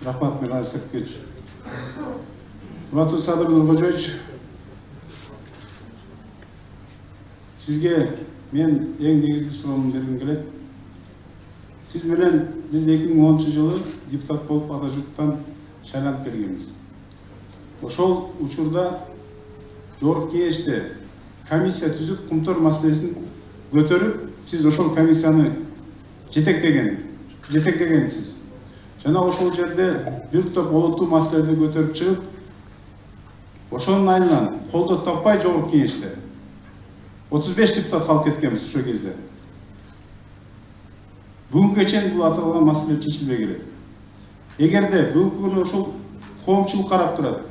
Рахмат, Мирза Сергеевич. Урматтуу Садыр Нуркожоевич, сизге мен эң негизги суроомду бергим келет. Сиз менен биз 2010-жылы депутат болуп Ата журттан шайланып келгенбиз. Ошол учурда жогорку кеңеште комиссия түзүп, кумтөр маселесин көтөрүп, сиз ошол комиссияны жетектегенсиз. Жана ошол жерде бир топ олуттуу маселелерди көтөрүп чыгып, ошонун айынан колдоо таппай жогорку кеңеште 35 депутат калып кеткенбиз ошол кезде. Бүгүнгө чейин бул аталган маселе чечилбей келет. Эгерде бүгүнкү күнү ошол коомчулук карап турат,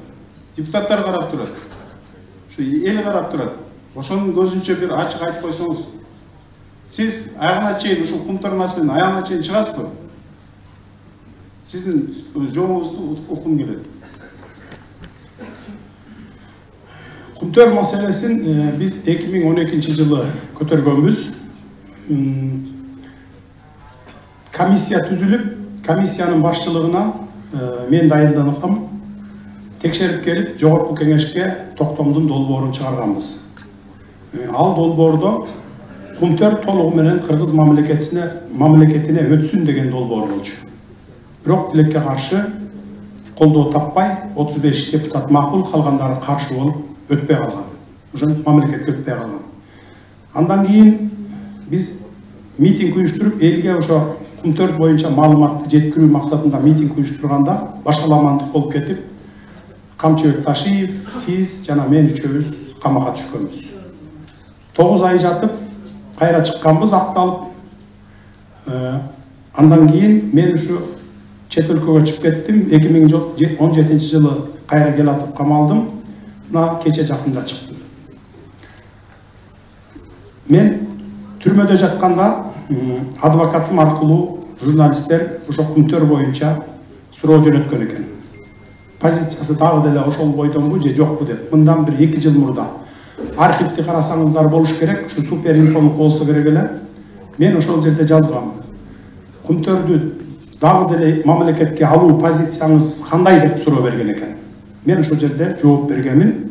депутаттар карап турат, ушу эл карап турат, ошонун көзүнчө бир ачык айтып койсоңуз, сиз аягына чейин ушул кумтөр маселенин аягына чейин чыгасызбы? Сиздин жообуңузду уккум келет. Кумтөр маселесин биз 2012-жылы көтөргөнбүз. Комиссия түзүлүп, комиссиянын башчылыгына мен дайындандым. Текшерип келип, жогорку кеңешке токтомдун долбоорун чыгарганбыз. Ал долбоордо кумтөр толугу менен кыргыз мамлекетине өтсүн деген долбоор болчу. Бирок тилекке каршы колдоо таппай 35 депутат макул, калгандары каршы болуп өтпөй калган. Ошон мамлекетке өтпөй калган. Андан кийин биз митинг уюштуруп, элге ошо кумтөр боюнча маалыматты жеткирүү максатында митинг уюштурганда башкаламандык болуп кетип, Камчыбек Ташиев, сиз жана мен үчөөбүз камакка түшкөнбүз. 9 ай жатып, кайра чыкканбыз, акталып. Андан кийин мен ушу чет өлкөгө чыгып кеттим. 2017-жылы кайра келатып камалдым. Мына кече жакында чыктым. Мен түрмөдө жатканда адвокатым аркылуу журналисттер ошо кумтөр боюнча суроо жөнөткөн экен. Позициясы дагы деле ошол бойдонбу же жокпу деп. Мындан бир 2 жыл мурда архивди карасаңыздар болуш керек, ушу супер инфону болсо керек эле. Мен ошол жерде жазгам. Кумтөрдү дагы деле мамлекетке алуу позицияңыз кандай деп суроо берген экен. Мен ошол жерде жооп бергенмин.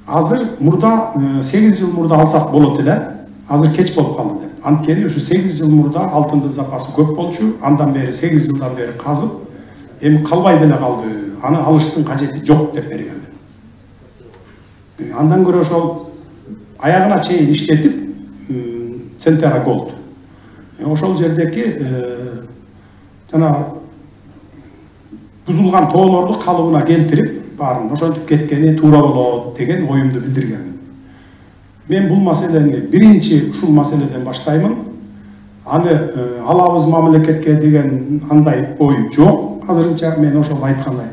Азыр мурда 8 жыл мурда алсак болот эле. Азыр кеч болуп калды деп. Анткени ушу 8 жыл мурда алтындын запасы көп болчу. Андан бери 8 жылдан бери казып, эми калбай деле калды. Аны алыштын кажети жок деп берген. Андан көрө ошол аягына чейин иштетип, Центера Голд. Ошол жердеки жана бузулган тоолорду калыбына келтирип, баарын ошентип кеткени туура болот деген оюмду билдирген. Мен бул маселени биринчи ушул маселеден баштаймын. Аны алабыз мамлекетке деген андай ой жок. Азырынча мен ошол айткандай.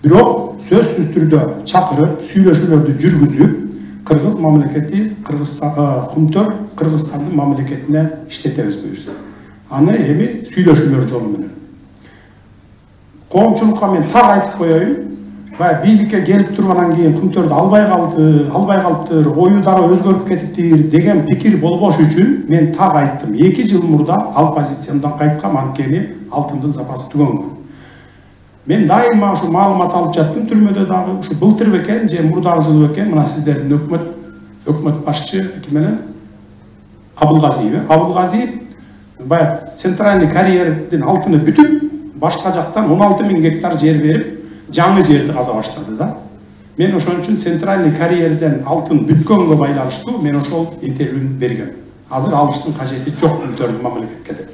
Бирок сөзсүз түрдө чакырып, сүйлөшүүлөрдү жүргүзүп, кыргыз мамлекети, кумтөр Кыргызстандын мамлекетине иштетебиз буюрса. Аны эми сүйлөшүүлөр жолу менен. Коомчулукка мен так айтып коеюн. Бийликке келип тургандан кийин кумтөрдү албай калыптыр, ою дары өзгөрүп кетиптир деген пикир болбош үчүн мен так айттым. 2 жыл мурда ал позициямдан кайткам, анткени алтындын запасы түгөнгөн. Мен дайыма ушу маалымат алып жаттым түрмөдө дагы. Ушу былтыр бекен же мурдагы жыл бекен, мына сиздердин өкмөт башчы менен Абылгазиев баягы центральный карьердин алтыны бүтүп, башка жактан 16.000 гектар жер берип, жаңы жерди каза баштады да. Мен ошон үчүн центральный карьерден алтын бүткөнгө байланыштуу мен ошол интервьюну бергем. Азыр алыштын кажети жок кумтөрдүн мамлекетке деп.